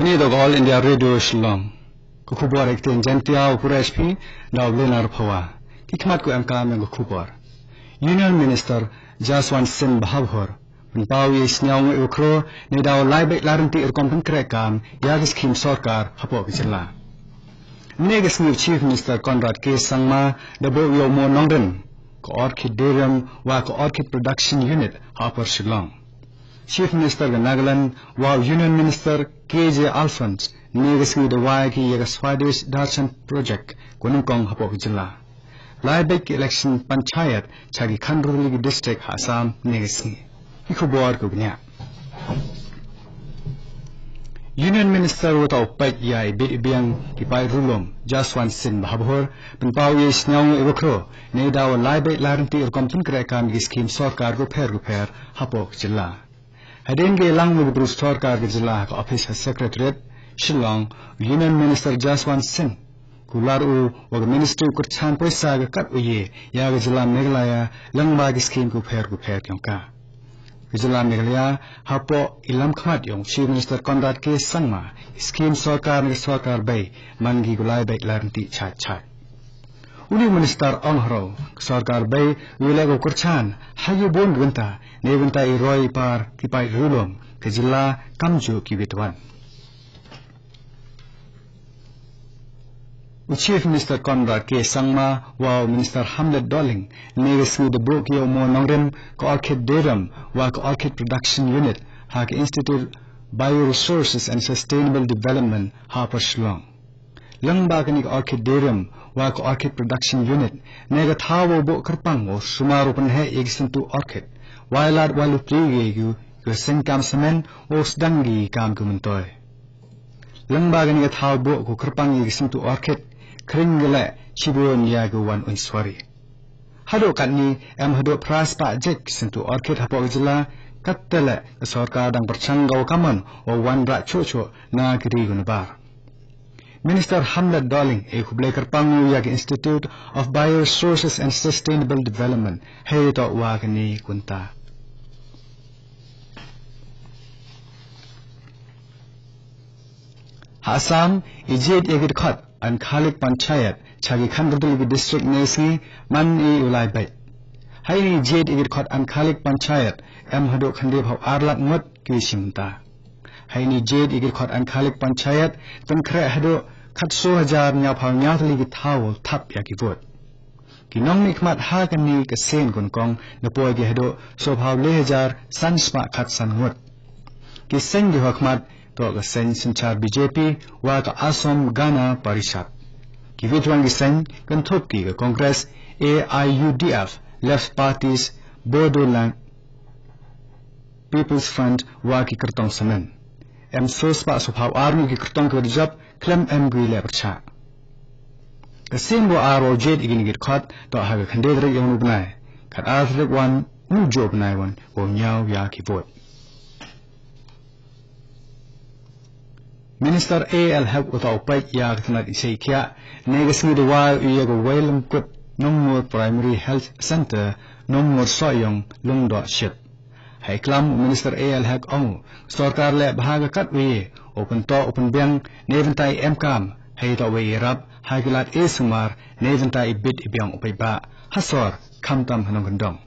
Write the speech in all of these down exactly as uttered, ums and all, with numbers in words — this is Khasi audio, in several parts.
Kane ka All India Radio Shillong. Ka khubor ha ka ktien Jaiñtia, u puresh phi da u Lenar Phawa. Ki khmat ki ba em kam ha ka khubor. Union Minister Jaswant Singh Bhabhoor pynpaw ïa i sñiawngooh iba khraw, ne da u lai beit lai ryntih rukom pynkhreh kam ïa ki skhim sorkar hapoh ka jylla. Mynne ka sngi u Chief Minister Conrad K Sangma da buh ïa u maw nongrim ka Orchidarium wa ka Orchid Production Unit ha Upper Shillong. Chief Minister ka Nagaland wa u Union Minister K J Alphonse mynne ka sngi da wai ki ïa ka Swadesh Darshan Project kaba nyngkong hapoh ka jylla. Lai beit ki election panchayat sha ki khathynriew tylli ki district ha Assam mynne ka sngi. Ki khubor kiba bniah. Union Minister uba peit ïa i bit i biang ki paid riewlum, Jaswant Singh Bhabhoor, pynpaw ïa i sñiawngooh iba khraw, ne da u lai beit lai ryntih rukom pynkhreh kam ïa ki skhim sorkar kiba pher kiba pher hapoh ka jylla. Hadien ba ïalang bad ki briew sorkar ka jylla ha ka ophis ha Secretariat Shillong, Union Minister Jaswant Singh, u la ong u wa ka Ministry u kyrchan poisa ka kat u ïeh ïa ka jylla Meghalaya lyngba ki skhim kiba pher kiba pher jong ka. Ka jylla Meghalaya hapoh i lam khmat jong u Chief Minister Conrad K Sangma, ki skhim sorkar ne ka sorkar bei man ki ba u lai beit lai ryntih chait chait. Une u Minister ong haroh ka sorkar bei u ïaleh ka kyrchan ha ki bun ki bynta, ne bynta i roi i par ki paid riewlum ka jylla kamjooh ki wit wan. U Chief Minister Conrad K Sangma wa u Minister Hamlet Dohling mynne ka sngi da buh ki ïa u maw nongrim ka Orchidarium wa ka Orchid Production Unit ha ka Institute of Bioresources and Sustainable Development ha Upper Shillong. Lyngba kane ka Orchidarium wa ka Orchid Production Unit, ne ka thaw ba u buh kyrpang wow sumar u pynheh ïa ki syntu orchid, wai lad wai lutri ïa ki, ki seng kam samen wow sdang ki kam ki myntoi. Lyngba kane ka thaw buh ka kyrpang ïa ki syntu orchid, khring ki leh shibun ïa ki wan uiñ suwari. Haduh katne em haduh phra spah jait ki syntu orchid hapoh ka jylla, katta leh ka sorkar dang pyrshang ka wa kamon wow wanrah chuh chuh na ki ri ki na bar. Minister Hamlet Dohling e khublei kyrpang u ïa ka Institute of Bioresources and Sustainable Development hei toh wa kane ka bynta. Ha Assam, i jied ïa ki dkhot Ankhalik Panchayat sha ki khathynriew tylli ki district mynne ka sngi man i u lai beit. Ha ine i jied ïa ki dkhot Ankhalik Panchayat em haduh khyndaiphew ar lak ngut ki shim bynta. Ha ine i jied ïa ki dkhot Ankhalik Panchayat pynkhreh haduh khatsaw hajar hynñiewphew hynñiew tylli ki thaw thap ïa ki vote. Ki nongmihkhmat ha kane ka sien kongsan da poi ki haduh sawphew lai hajar san spah khatsan ngut. Ki seng kiwa khmat toh ka seng synshar B J P wa ka Assam Gana Parishad. Ki wit wan ki seng kynthup ki ka Congress, A I U D F, Left Parties, Bodoland People's Front wa ki kyrtong samen. Em sawspah sawphew ar ngut ki kyrtong kiwa da jop khlem em kiwa leh pyrshah. Ka sien ba ar wow jied ïa kine ki dkhot toh ha ka khyndai tarik ïa une u bnai. Khatar tarik wan une u juh u bnai wan wow ñiew ïa ki vote. Minister A L Hek uta u peit ïa ka tnat isei khiah mynne ka sngi da wai u ïa ka Wailamkut Nongmur Primary Health Centre, Nongmur Sohiong, Lyngdoh Ship. Hei klam u Minister A L Hek ong u, sorkar leh bha ka kat u ïa u pyntoh u pynbiang ne bynta i em kam, hei toh wei i rap ha ki lad e sumar ne bynta i bit i biang u paidbah ha sor khamtam ha nongkyndong.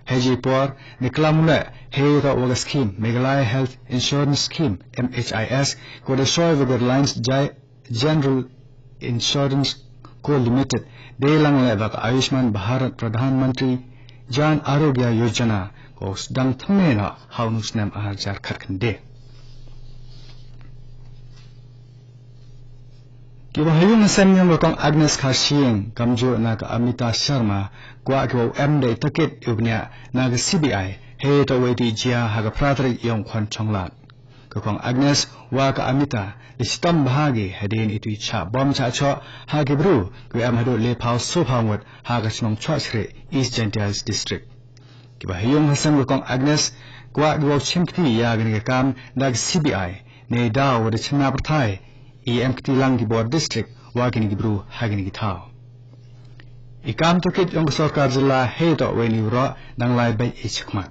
Hei ji por ne klam u leh hei toh wa ka scheme Meghalaya Health Insurance Scheme, M H I S, ko da soi wa ka Reliance Jai General Insurance Co Limited, dei lang leh wa ka Ayushman Bharat Pradhan Mantri Jan Arogya Yojana, ko sdang thymme noh ha une u snem ar hajar khatkhyndai. Kiwa ha yung ha sem yong ka Kong Agnes Kharshiing kamjooh na ka Amita Sharma kwah kiwa u em da i takit iwa bniah na ka C B I hei toh wa i tih jia ha ka phra tarik yong u Khonchonglad. Ka Kong Agnes wa ka Amita da shitom bha ki hadien itu i chah bom chah choh ha ki bru kiwa em haduh laiphew sawphew ngut ha ka chnong Chohsrieh, East Jaintia Hills District. Kiwa ha yung ha sem ka Kong Agnes kwah kiwa u chim kti ïa kane ka kam da ka C B I, neidaw wa da chynna pyrthai i em kti lang ki bor district wa kine ki bru ha kine ki thaw. I kam takit yong ka sorkar jylla hei toh wa ine i waroh dang lai beit i chakhmat.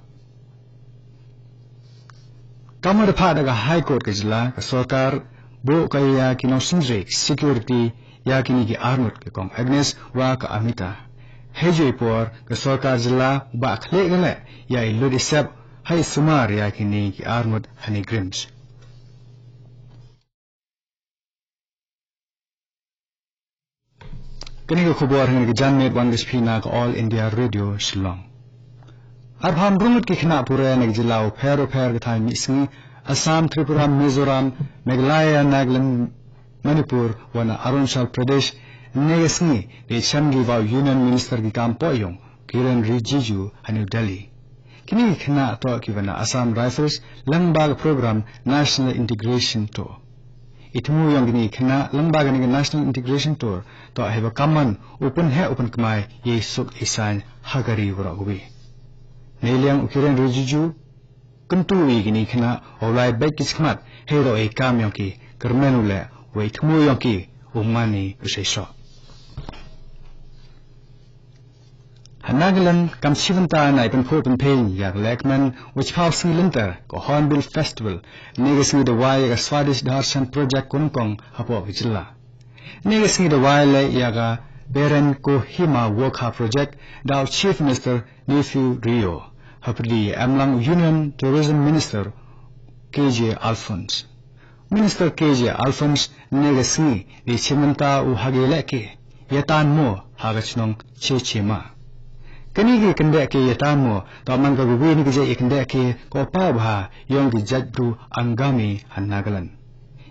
Kam wa da phah da ka High Court ka jylla, ka sorkar buh ka ïa ki nongsynshar security ïa kine ki arngut, ka Kong Agnes wa ka Amita. Hei ju i por ka sorkar jylla ba khleh ka leh ïa i lut i sep hei sumar ïa kine ki arngut ha ne GRIHMS. Kane ka khubor ha kane ka janmiet wan ka sha phi na ka All India Radio Shillong. Arphaw hynriew ngut ki khynnah pule na ki jylla u pher u pher ka thaiñ mihngi, Assam, Tripura, Mizoram, Meghalaya, Nagaland, Manipur wa na Arunachal Pradesh, ne ka sngi da shem ki wa u Union Minister ki kam pohiong, Kiren Rijiju, ha New Delhi. Kine ki khynnah toh ki wa na Assam Rifles lyngba ka program National Integration Tour. I thmu ïong kine ki khynnah lyngba kane ka National Integration Tour toh hei ba kamman u pynheh u pynkmai ïa i suk i saiñ ha ka ri waroh kawi. Neiliang u Kiren Rijiju kyntu ïa kine ki khynnah u lai beit ki chakhmat hei ruh ïa i kam ïong ki, kyrmen u leh wa i thmu ïong ki u man i u seisoh. Ha Nagaland kam shibynta na i pynphuh pynphieng ïa ka lehkmen wa chiphaw sngi lynter ka Hornbill Festival, ne ka sngi da wai ïa ka Swadesh Darshan Project kongkong hapoh ka jylla. Ne ka sngi da wai leh ïa ka Beren Kohima Wokha Project da u Chief Minister Neiphiu Rio, hapdeng em lang Union Tourism Minister K J Alphonse. Minister K J Alphonse ne ka sngi da shim bynta u ha ki lehke ïatan mo ha ka chnong Chechema. Kane ki kyndeh ke ïatan mo toh man ka kawi na ki jait ïa kyndeh ke ka u paw bha ïong ki jait bru Angami ha Nagaland.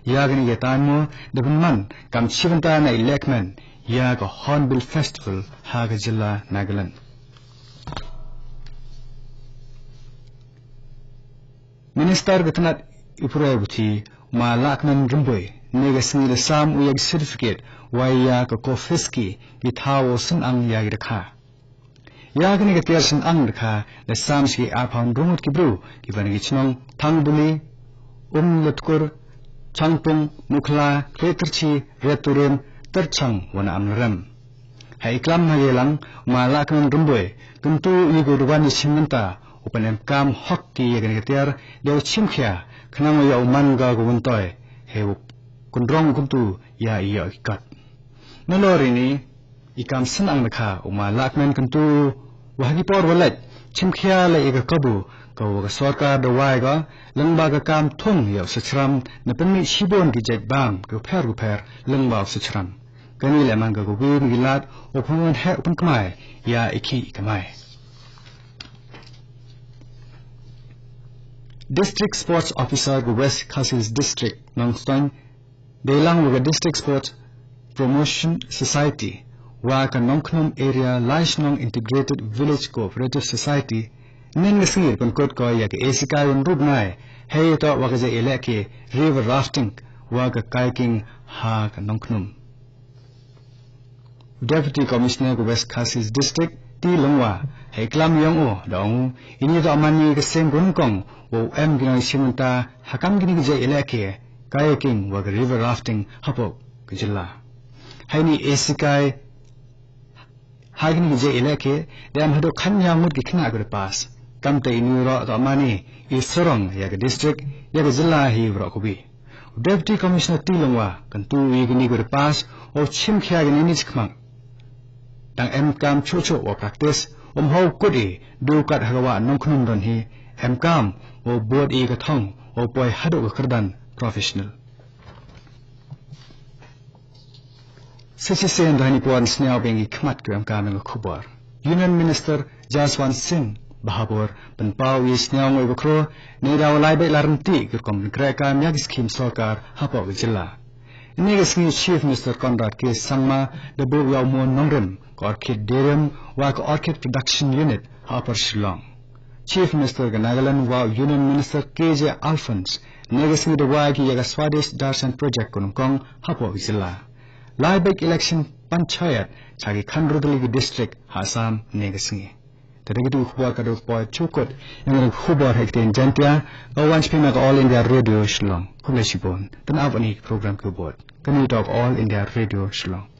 Ïa kane ïatan mo da pynman kam shibynta na i lehkmen ïa ka Hornbill Festival ha ka jylla Nagaland. Minister ka tnat i pule puthi, Ma Lahkmen Rymbui, ne ka sngi da sam u ïa ki certificate wa ïa ka COFISC ki thaw wa synang ïa ki dakha. Ïa kane ka tiar synang dakha da sam sha ki arphaw hynriew ngut ki bru ki wa na ki chnong Thangbuli, Umlatkur, Changpung, Mukhla, Kletyrchi, Returim, Tyrchang wa na Amlarem. Ha i klam ha ka ïalang, Ma Lahkmen Rymbui kyntu ïa ki wa da wan ïa shim bynta u pynemkam hok ki ïa kane ka tiar da u chimkhia khnang ïa u man ka ka wyntoi hei u kynrong kyntu ïa i ïoh ki kot. Nalor ïa kane i kam synang dakha, u Ma Lahkmen kyntu wa ha ki por wa leit chimkhia leh ïa ka kabu ka wa ka sorkar da wai ka lyngba ka kam thung ïa u sachram, na pynmih shibun ki jait bam ki pher ki pher lyngba u sachram. Kane leh man ka kawi na ki lad u pynheh u pynkmai ïa i khih i kamai. District Sports Officer ka West Khasi District, Nongstoiñ, dei lang wa ka District Sports Promotion Society wa ka Nongkhnum Area Lai Shnong Integrated Village Cooperative Society, nen ka sngi pynkut ko ïa ka esikai wa hynriew bnai hei toh wa ka jait ïalehke river rafting wa ka kayaking ha ka Nongkhnum. Deputy Commissioner ka West Khasi District, T Lyngwa, ha i klam ïong u da ong u, ine toh man ïa ka seng kongkong wa u em ki nongshim bynta ha kam kine ki jait ïalehke kayaking wa ka river rafting hapoh ka jylla. Ha ine i esikai ha kine ki jait ïalehke da em haduh khatynñiaw ngut ki khynnah ki wa da pass. Kamte ine ruh toh man i sarong ïa ka district, ïa ka jylla hi waroh kawi. U Deputy Commissioner T Lyngwa kyntu ïa kine ki wa da pass u chimkhia kine ki chakhmat. Dang em kam chuh chuh wa practice, um hap kut i du kat ha ka wah Nongkhnum don hi, em kam wa bud i ka thong wa poi haduh ka kyrdan professional. Sa shisien da hani pwan sniaw beng i khmat ki wa em kam ïa ka khubor. Union Minister Jaswant Singh Bhabur pynpaw ïa i sniaw ngoi bakro ne da u lai beit la rynti ki rukom pynkhreh kam ïa ki skim sorkar hapoh ka jylla. Ine ka sngi Chief Minister Conrad K Sangma da buh ïa u mon nongrim ka Orchid Dairyum wa ka Orchid Production Unit ha Upper Shillong. Chief Minister ka Nagaland wa u Union Minister K J Alphonse ne ka sngi da wai ki ïa ka Swadesh Darshan Project kongkong hapoh ka jylla. Lai beit election panchayat cha ki khan rutli ki district ha Assam ne ka sngi. Te da kitu ki khubor ka dok poi chukut ïa nga ki khubor ha ki ktien Jaiñtia ka wan sha phi na ka All India Radio Shillong. Khublei shibun. Te naba ïa ki program ki bud. Kane toh ka All India Radio Shillong.